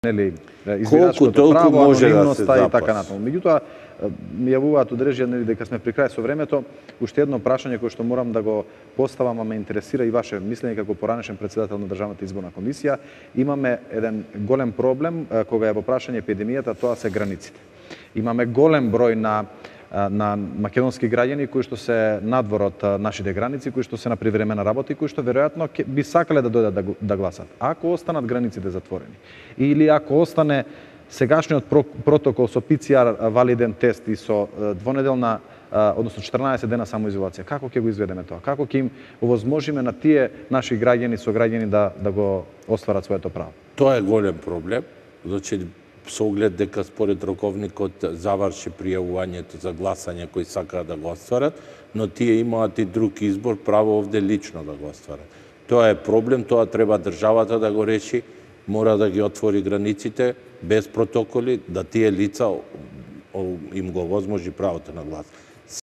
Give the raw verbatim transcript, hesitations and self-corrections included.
нели избирачкото право, анонимноста да и така натаму. Меѓутоа ми јавуваат удрежја нели дека сме при крај со времето. Уште едно прашање кое што морам да го поставам, а ме интересира и ваше мислење како поранешен председател на Државната изборна комисија. Имаме еден голем проблем кога е во прашање епидемијата, тоа се границите. Имаме голем број на на македонски граѓани кои што се надвор од нашите граници, кои што се на привремена работа и кои што веројатно би сакале да дојдат да, да гласат. Ако останат границите затворени или ако остане сегашниот протокол со пи це ар валиден тест и со двонеделна, односно четрнаесет дена самоизолација, како ќе го изведеме тоа? Како ќе им овозможиме на тие наши граѓани со граѓани да да го остварат своето право? Тоа е голем проблем. Значи со оглед дека според роковникот заврши пријавувањето за гласање кои сакаат да го остварат, но тие имаат и друг избор, право овде лично да го остварат. Тоа е проблем, тоа треба државата да го реши, мора да ги отвори границите без протоколи, да тие лица им го возможи правото на глас.